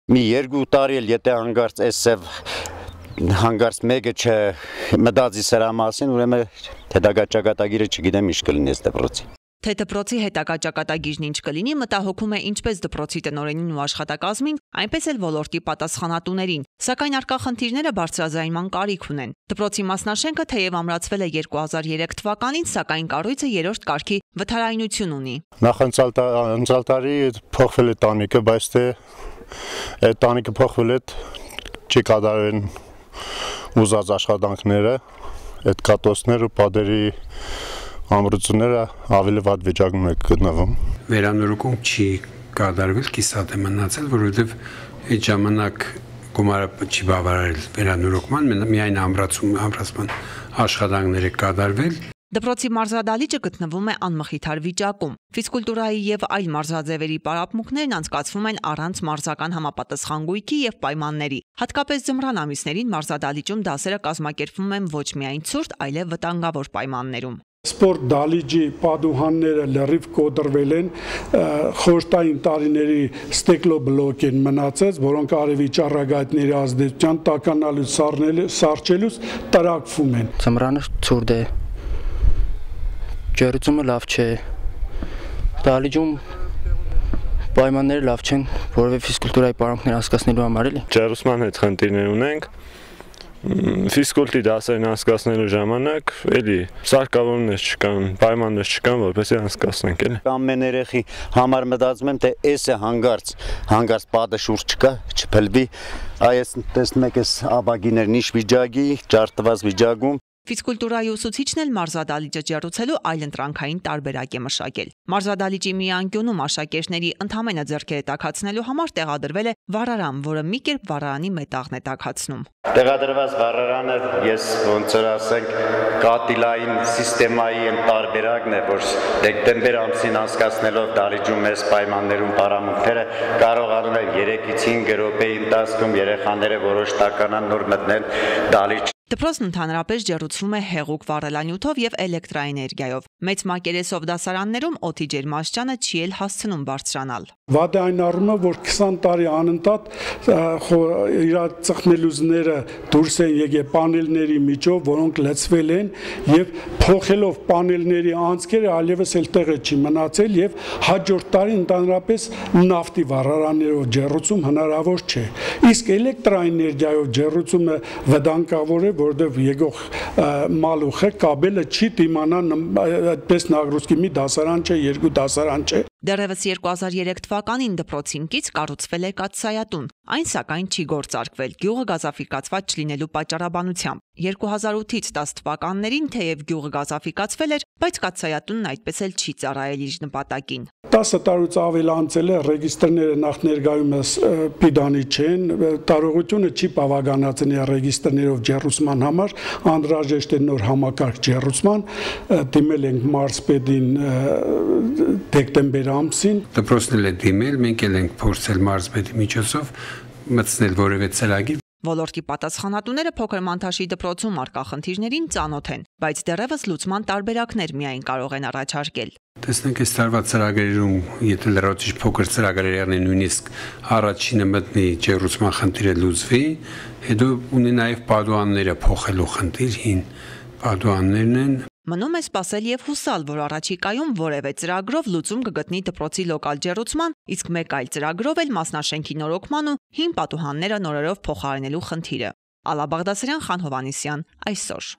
Մի 2 տարի էլ եթե հանգարց էսև հանգարց մեկը չմտածի սրա մասին, ուրեմն հետագա ճակատագիրը չգիտեմ ինչ կլինի այս դպրոցի։ Թե դպրոցի հետագա ճակատագիրն ինչ կլինի, մտահոգում է ինչպես դպրոցի տնօրենին ու աշխատակազմին, այնպես էլ ոլորտի պատասխանատուներին, սակայն առկա խնդիրները բարձրաձայնման կարիք ունեն։ Դպրոցի մասնաշենքը թեև ամրացվել է 2003 թվականին, սակայն կառույցը 3-րդ կարգի վթարայնություն ունի։ Նախանցյալ տարի փոխվել է տանիքը, բայց թե այդ տանիքը փոխվել է չի կատարեն ուզած աշխատանքները, այդ կատոցները ու падերի ամրությունները ավելի վատ վիճակում է գտնվում։ Վերանորոգում չի կատարվել, կիսատ է մնացել, որովհետև այդ ժամանակ գումարը չի բավարարել վերանորոգման, միայն ամրացման աշխատանքները կատարվել։ Դպրոցի մարզադահլիճը գտնվում է անմխիթար վիճակում։ Ֆիզկուլտուրայի եւ այլ մարզաձևերի պարապմունքներն անցկացվում են առանց մարզական համապատասխան գույքի եւ պայմանների։ Հատկապես ձմռան ամիսներին մարզադահլիճում դասերը կազմակերպվում են ոչ միայն ցուրտ, այլև վտանգավոր պայմաններում։ Սպորտ դահլիճի պատուհանները լրիվ կոտրվել են, խորհրդային տարիների ստեկլոբլոկ են մնացած, որոնք արևի ճառագայթների ազդեցության տականալուց սառչելուց տրակվում են։ Ձմռանը ցուրտ է, ջերուցումը լավ չէ, դահլիճում պայմանները լավ չեն, որովհետև ֆիզկուլտուրայի պարապմունքներ անցկացնելու համար էլի։ Ջերուցման հետ խնդիրներ ունենք։ Ֆիզկուլտի դասերն անցկացնելու ժամանակ էլի սարքավորումներ չկան, պայմաններ չկան, որպեսզի անցկացնենք էլի։ Ամեն երեխի համար մտածում եմ, թե էս է հանգարց պատը շուրջ չկա, չփլվի, այս տեսնում եք էս աբագիներն ինչ վիճակի, ջարդված վիճակում։ Ֆիզկուլտուրայի ուսուցիչն էլ մարզադահլիճը ջեռուցելու այլընտրանքային տարբերակ է մշակել։ Մարզադահլիճի մի անկյունում աշակերտների ընդհանրը ձեռքերը տաքացնելու համար տեղադրվել է վառարան, որը մի կերպ վառարանի մետաղն է տաքացնում։ Տեղադրված վառարանը ես ոնց որ ասենք կատիլային սիստեմայի տարբերակն է, որ դեկտեմբեր ամսին անցկացնելով դահլիճում այս պայմաններում պարամունքները կարողանում են 3-ից 5 րոպեի ընթացքում երեխաները որոշ տականան նոր մտնել դահլիճ։ Դպրոցն ընդհանրապես ջեռուցվում է հեղուկ վառելանյութով եւ էլեկտրաէներգիայով։ Մեծ մակերեսով դասարաններում օդի ջերմաստիճանը չի էլ հասցնում բարձրանալ։ Վատ է այն առումով, որ 20 տարի անընդհատ իր ծխնելուզները դուրս են եկել պանելների միջով, որոնք լցվել են եւ փոխելով պանելների անցքերը այլևս էլ տեղը չի մնացել եւ հաջորդ տարի ընդհանրապես նավթի վառարաններով ջեռուցում հնարավոր չէ։ Իսկ էլեկտրաէներգիայով ջեռուցումը վտանգավոր է, որովհետև եկող մալուխը կաբելը չի դիմանա այդպես նագրուցքի մի դասարան չէ, 2 դասարան չէ։ Դեռևս 2003 թվականին դպրոցին կից կառուցվել է կաթսայատուն, այն սակայն չի գործարկվել գյուղը գազաֆիկացված չլինելու պատճառաբանությամբ։ 2008-ից 10 թվականներին թեև գյուղը գազաֆիկացվել էր, բայց կաթսայատունն այդպես էլ չի ծառայել իր նպատակին։ 10 տարուց ավել անցել է, ռեգիստրները նախ ներկայումս պիտանի չեն, տարողությունը չի բավականացնի ռեգիստրներով ջեռուցման համար, անհրաժեշտ է նոր համակարգ ջեռուցման, դիմել ենք մարզպետին դեկտեմբեր ամսին։ Դպրոցն էլ է դիմել, մենք էլ ենք փորձել մարզպետի միջոցով մտցնել որևէ ծրագիր։ Ոլորտի պատասխանատուները փոքր Մանթաշի դպրոցում առկա խնդիրներին ծանոթ են, բայց դեռևս լուծման տարբերակներ միայն կարող են առաջարկել։ Տեսնենք այս տարվա ծրագրերում, եթե լրացուցիչ փոքր ծրագրեր եղնեն, նույնիսկ առաջինը մտնի ջեռուցման խնդիրը լուծվի, հետո ունի նաև պատուհանները փոխելու խնդիր, հին պատուհաններն են։ Մնում է սպասել եւ հուսալ, որ առաջիկայում որևէ ծրագրով լուծում կգտնի դպրոցի լոկալ ջեռուցման, իսկ մեկ այլ ծրագրով էլ մասնաշենքի նորոգման ու հին պատուհանները նորերով փոխարինելու խնդիրը։ Ալա Բաղդասարյան, Խան Հովհաննիսյան, այսօր։